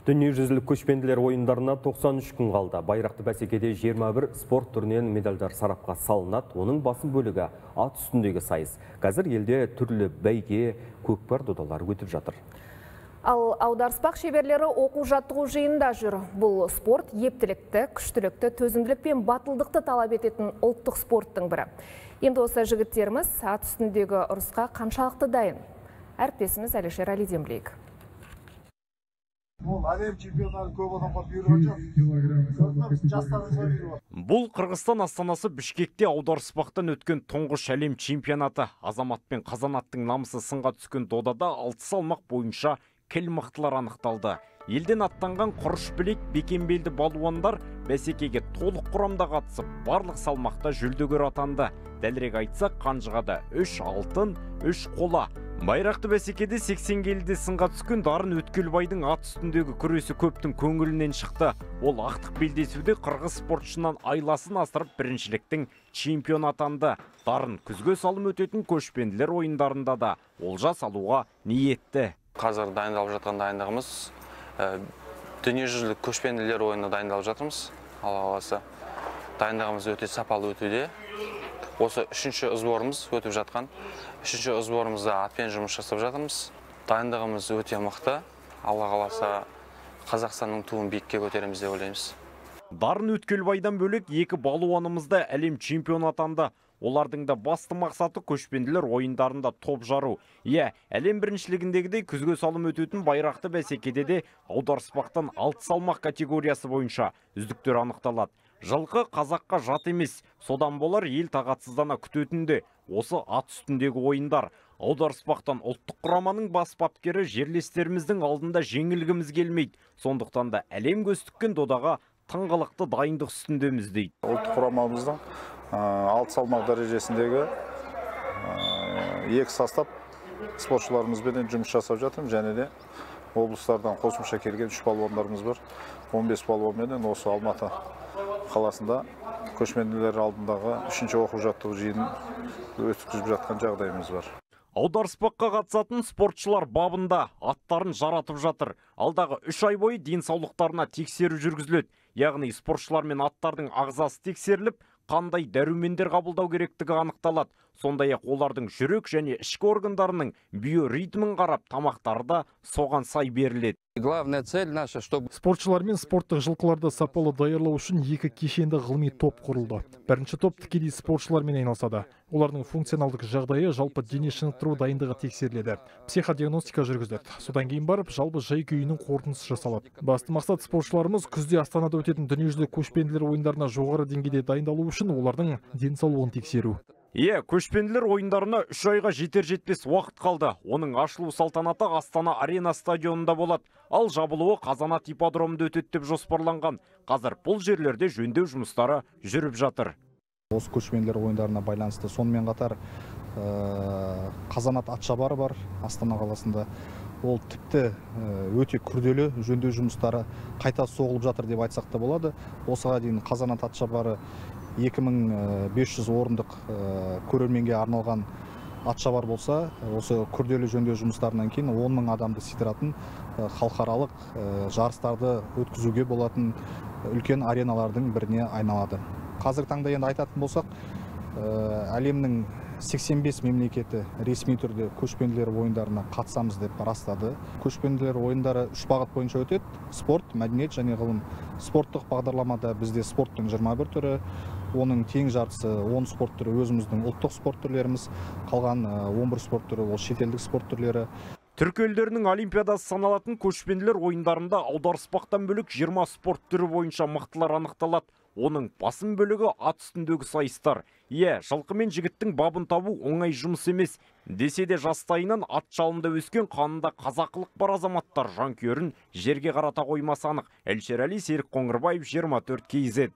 Дүниежүзілік көшпенділер ойындарына 93 күн қалды. Байрақты бәсекеде 21 спорт түрінен медальдар сарапқа салынады. Оның басым бөлігі ат үстіндегі сайыс. Қазір елде түрлі бәйге, көкпар додалар өтіп жатыр. Ал аударыспақ шеберлері оқу жаттығу жиында жүр. Бұл спорт ептілікті, күштілікті, төзімділік пен батылдықты талап ететін ұлттық спорттың бірі. Енді осы жігіттеріміз ат үстіндегі ұрысқа қаншалықты дайын? Әріптесіміз Әлішер Әлиден білейік. Бұл Қырғызстан астанасы Бішкекте аударыспақтан өткен тұңғыш әлем чемпионаты. Азамат пен Қазанаттың намысы сынға түскен додада 6 салмақ бойынша кіл мықтылар анықталды. Елден аттанған құрыш білек бекембелді балуандар бәсекеге толық құрамда қатысып, барлық салмақта жүлдегер атанды. Дәлірек айтсақ, қанжығада 3 алтын, 3 қола. Байрақты бәсекеде 80 келіде сынға түскен Дарын Өткелбайдың ат үстіндегі күресі көптің көңілінен шықты. Ол ақтық белдесуде қырғыз спортшынан айласын асырып біріншіліктің чемпион атанды. Дарын күзге салым өтетін көшпенділер ойындарында да олжа салуға ниетті. Қазір дайындалып жатқан дайындығымыз дүниежүзілік көшпенділер ойынына дайындалып жатырмыз. Алла қаласа дайындығымыз өте сапалы өтуде. Осы үшінші сборымыз өтіп жатқан. Үшінші сборымызда атпен жұмыс жасап жатырмыз. Дайындығымыз өте мықты. Алла қаласа Қазақстанның туын биікке көтереміз деп ойлаймыз. Дарын Өткелбайдан бөлек екі балуанымызда әлем чемпион атанды. Олардың да басты мақсаты көшпенділер ойындарында топ жару. Әлем біріншілігіндегідей күзге салым өтетін байрақты бәсекеде де аударыспақтан 6 салмақ категориясы бойынша үздіктер анықталады. Жылқы қазаққа жат емес, содан болар ел тағатсыздана күтетінде осы ат үстіндегі ойындар. Аударыспақтан ұлттық құраманың бас бапкері жерлестеріміздің алдында жеңілгіміз келмейді. Сондықтан да әлем көз тіккен додаға тыңғылықты дайындық үстіндеміз дейді. Ұлттық құрамамыздың 6 салмақ дәрежесіндегі 2 состав спортшыларымызбен жұмыс жасап жатырмын, және де облыстардан қосымша келген 3 балуандарымыз бар. 15 балуанмен осы Алматы қаласында көшпенділер алдындағы 3-ші оқу жаттығу жиынын өткізіп жатқан жағдайымыз бар. Аударыспаққа қатысатын спортшылар бабында аттарын жаратып жатыр. Алдағы 3 ай бойы денсаулықтарына тексеру жүргізіледі. Яғни спортшылар мен аттардың ағзасы тексеріліп, қандай дәрумендер қабылдау керектігі анықталады. Сондай-ақ олардың жүрек және ішкі органдарының биоритмін қарап, тамақтары да соған сай беріледі. Главная цель наша, чтобы спортшылар мен спорттық жылқыларды сапалы даярлау үшін 2 кешенді ғылыми топ құрылды. Бірінші топ тікелей спортшылармен айналысады. Олардың функционалдық жағдайы, жалпы дене шынықтыру дайындығы тексеріледі. Психодиагностика жүргізіледі. Содан кейін барып, жалпы жай-күйінің қорытындысы жасалады. Басты мақсат спортшыларымыз күзде Астанада өтетін дүниежүзілік көшпенділер ойындарына жоғары деңгейде дайындалу үшін олардың денсаулығын тексеру. Көшпенділер ойындарына 3 айға жетер-жетпес уақыт қалды. Оның ашылу салтанаты Астана Арена стадионында болады. Ал жабылуы Қазанат ипподромында өтеді деп жоспарланған. Қазір бұл жерлерде жөндеу жұмыстары жүріп жатыр. Осы көшпенділер ойындарына байланысты сонымен қатар Қазанат атшабары бар Астана қаласында. Ол тіпті өте күрделі жөндеу жұмыстары қайта соғылып жатыр деп айтсақ та болады. Осыға дейін Қазанат атшабары 2500 орындық көрерменге арналған атшабар болса, осы күрделі жөндеу жұмыстарынан кейін 10 000 адамды сыйдыратын халықаралық жарыстарды өткізуге болатын үлкен ареналардың біріне айналады. Қазіргі таңда енді айтатын болсақ, әлемнің 85 мемлекеті ресми түрде көшпенділер ойындарына қатысамыз деп растады. Көшпенділер ойындары 3 бағыт бойынша өтеді: спорт, мәдениет және ғылым. Спорттық бағдарламада бізде спорттың 21 түрі, оның тең жартысы 10 спорт түрі өзіміздің ұлттық спорт түрлеріміз, қалған 11 спорт түрі ол шетелдік спорт түрлері. Түркі елдерінің олимпиадасы саналатын көшпенділер ойындарында аударыспақтан бөлек 20 спорт түрі бойынша мықтылар анықталады. Оның басым бөлігі ат үстіндегі сайыстар. Жылқы мен жігіттің бабын табу оңай жұмыс емес. Десе де жастайынан ат жалында өскен, қанында қазақылық бар азаматтар жанкүйерін жерге қарата қоймасы анық. Әлішер Әли, Серік Қоңырбаев, 24 KZ.